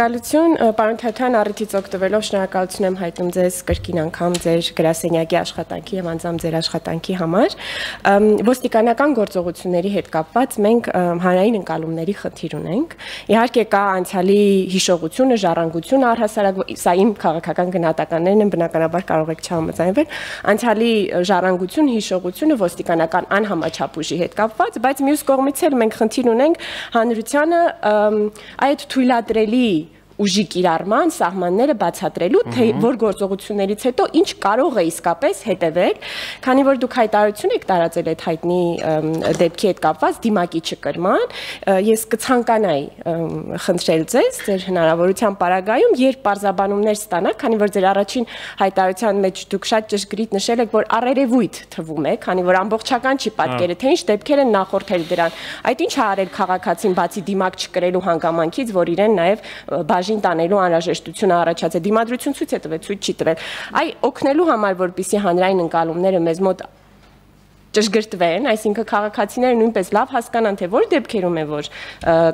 Շնորհակալություն, պարոն Թաթյան, առիթից օգտվելով շնորհակալություն եմ հայտնում ձեզ կրկին անգամ ձեր գրասենյակի աշխատանքի եւ անձամբ ձեր աշխատանքի համար։ Ոստիկանական գործողությունների հետ կապված մենք հանրային ընկալումների խնդիր ունենք։ Իհարկե կա անցյալի հիշողությունը, ժառանգությունը առհասարակ, սա իմ քաղաքական գնահատականներն են, բնականաբար կարող եք չհամաձայնվել, անցյալի ժառանգություն, հիշողությունը ոստիկանական անհամաչափ ուժի հետ կապված, բայց մյուս կողմից էլ մենք խնդիր ունենք հանրությանը այդ թույլատրելի ուժի կիրառման սահմանները բացատրելու, թե որ գործողություններից հետո ինչ կարող է իսկապես հետևել, քանի որ դուք հայտարարություն եք տարածել այդ հայտնի դեպքի հետ կապված դիմակի չկրման, ես կցանկանայի խնդրել ձեզ ձեր հնարավորության պարագայում, երբ պարզաբանումներ ստանաք, քանի որ ձեր առաջին հայտարարության մեջ դուք շատ ճշգրիտ նշել եք, որ առերևույթ թվում է, քանի որ ամբողջական չի պատկերը, թե ինչ դեպքեր են նախորդել դրան, այդ ինչ ա արել քաղաքացին բացի դիմակ չկրելու հանգամանքից, որ իրեն նաև տանելու անհրաժեշտությունը առաջացել է, դիմադրություն ցույց է տվել, ցույց չի տվել։ Այ օգնելու համար, որպեսզի հանրային ընկալումները մեզ մոտ ճշգրտվեն, այսինքն քաղաքացիները նույնպես լավ հասկանան, թե որ դեպքերում է, որ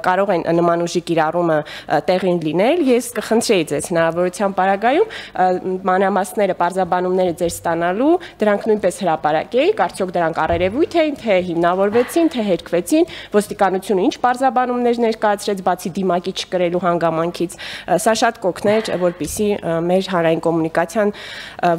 կարող են նման ուժի կիրառումը տեղին լինել, ես կխնդրեի ձեզ հնարավորության պարագայում մանրամասները, պարզաբանումները ձեր ստանալու, դրանք նույնպես հրապարակեիք, արդյոք դրանք առերևույթ էին, թե հիմնավորվեցին, թե հերկվեցին, ոստիկանությունը ինչ պարզաբանումներ ներկայացրեց, բացի դիմակի չկրելու հանգամանքից, սա շատ կօգներ, որպեսզի մեր հանրային կոմունիկացիան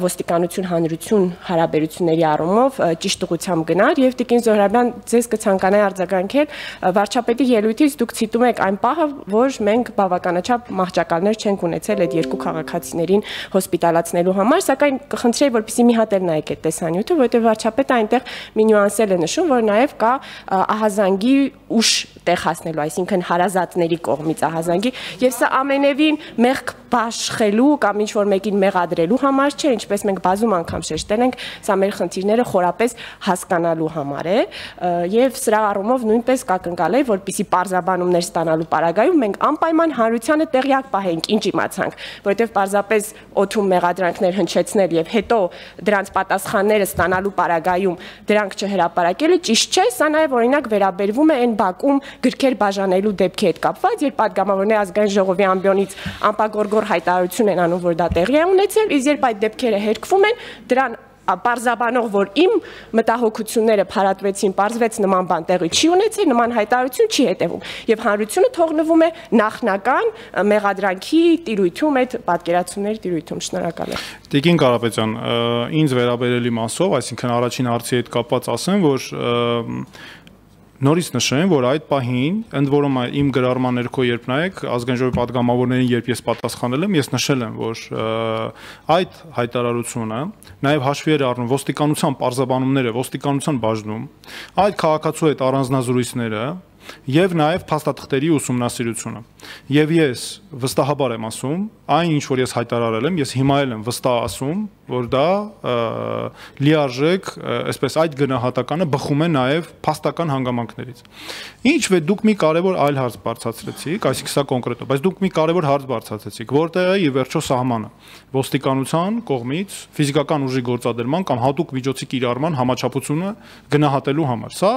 ոստիկանություն հանրություն հարաբերությունների առումով ճիշտ ուղղությամբ գնար եւ Տիկին Զոհրաբյան ձեզ կցանկանայի արձագանքել վարչապետի ելույթից դուք ցիտում եք այն պահը, որ մենք բավականաչափ մահճակալներ չենք ունեցել այդ երկու քաղաքացիներին հոսպիտալացնելու համար, սակայն կխնդրեի, որպեսզի մի հատ էլ նայեք այդ տեսանյութը, որովհետեւ վարչապետը այնտեղ մի նյուանսել է նշում, որ նաեւ կա ահազանգի ուժ տեղ հասնելու, այսինքն հարազատների կողմից ահազանգի, եւ սա ամենևին մեղք բաշխելու կամ ինչ որ մեկին մեղադրելու համար չէ, ինչպես մենք բազում անգամ շեշտել ենք, սա մեր խնդիրները խորապես հասկանալու համար է եւ սրա առումով նույնպես կակնկալեի, որպեսզի պարզաբանումներ ստանալու պարագայում մենք անպայման հանրությանը տեղյակ պահենք, ինչ իմացանք, որովհետեւ պարզապես օթում մեղադրանքներ հնչեցնել եւ հետո դրանց պատասխանները ստանալու պարագայում դրանք չհրապարակելը ճիշտ չէ, սա նաեւ օրինակ վերաբերվում է այն բակում գրքեր բաժանելու դեպքի հետ կապված, երբ падգամավորների ազգային ժողովի ամբիոնից անպագորգոր հայտարարություն են անում, որ դա տեղի է ունեցել, իսկ երբ այդ դեպքերը հերկվում են, դրան պարզաբանող, որ իմ մտահոգությունները փարատվեցին, պարզվեց նման բան տեղի չի ունեցել, նման հայտարարություն չի հետևում, եւ հանրությունը թողնվում է նախնական մեղադրանքի տիրույթում, այդ պատկերացումների տիրույթում։ Շնորհակալ եմ։ Տիկին Կարապետյան, ինձ վերաբերելի մասով, այսինքն առաջին հարցի հետ կապված ասեմ, որ նորից նշեմ, որ այդ պահին, ընդ որում իմ գրառման ներքո երբ նայեք, ազգային ժողովի падգամավորներին երբ ես պատասխանել եմ, ես նշել եմ, որ այդ հայտարարությունը նաև հաշվի էր առնում ոստիկանության պարզաբանումները, ոստիկանության բաժնում, այդ քաղաքացու հետ առանձնազրույցները եւ նաեւ փաստաթղթերի ուսումնասիրությունը։ Եվ ես վստահաբար եմ ասում, այն ինչ որ ես հայտարարել եմ, ես հիմա էլ եմ վստահ ասում, որ դա լիարժեք, այսպես այդ գնահատականը բխում է նաեւ փաստական հանգամանքներից։ Ինչ վե դուք մի կարևոր այլ հարց բարձրացրեցիք, այսինքն սա կոնկրետ, բայց դուք մի կարևոր հարց բարձրացրեցիք, որտեղ է ի վերջո սահմանը ոստիկանության կողմից ֆիզիկական ուժի գործադրման կամ հատուկ միջոցի կիրառման համաչափությունը գնահատելու համար։ Սա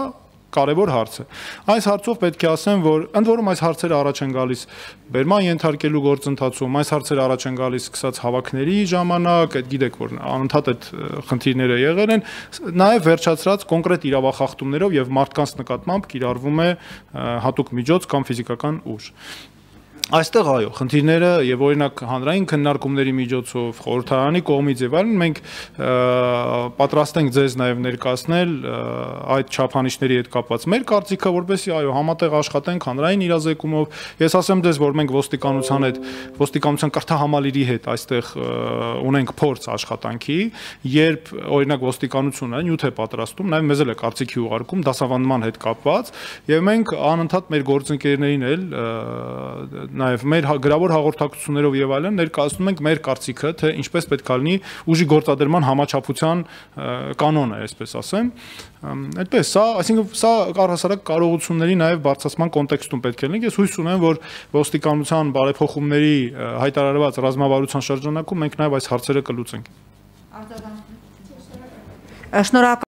կարևոր հարց է։ Այս հարցով պետք է ասեմ, որ ընդ որում այս հարցերը առաջ են գալիս բերման ենթարկելու գործընթացում, այս հարցերը առաջ են գալիս սկսած հավաքների ժամանակ, այդ գիտեք, որ անընդհատ այդ խնդիրները եղել են, նաև վերջացրած կոնկրետ իրավախախտումներով եւ մարդկանց նկատմամբ կիրառվում է հատուկ միջոց կամ ֆիզիկական ուժ։ Այստեղ այո, խնդիրները եւ օրինակ հանրային քննարկումների միջոցով, խորհրդարանի կողմից եւ այլն մենք պատրաստ ենք ձեզ նաեւ ներկայացնել այդ չափանիշների հետ կապված մեր կարծիքը, որպեսզի այո, համատեղ աշխատենք հանրային իրազեկումով։ Ես ասեմ ձեզ, որ մենք ոստիկանության հետ, ոստիկանության կրթահամալիրի հետ այստեղ ունենք փորձ աշխատանքի, երբ օրինակ ոստիկանությունը նյութ է պատրաստում, նաեւ մեզ էլ է կարծիքի ուղարկում դասավանդման հետ կապված եւ մենք անընդհատ մեր գործընկերներին էլ նաև մեր գրավոր հաղորդակցություններով եւ այլն ներկայացնում ենք մեր կարծիքը, թե ինչպես պետք է լինի ուժի գործադրման համաչափության կանոնը, այսպես ասեմ։ Այդպես, սա, այսինքն սա առհասարակ կարողությունների նաև բարձրացման կոնտեքստում պետք է լինի։ Ես հույս ունեմ, որ ոստիկանության բարեփոխումների հայտարարված ռազմավարության շրջանակում մենք նաև այս հարցերը կլուծենք։ Շնորհակալ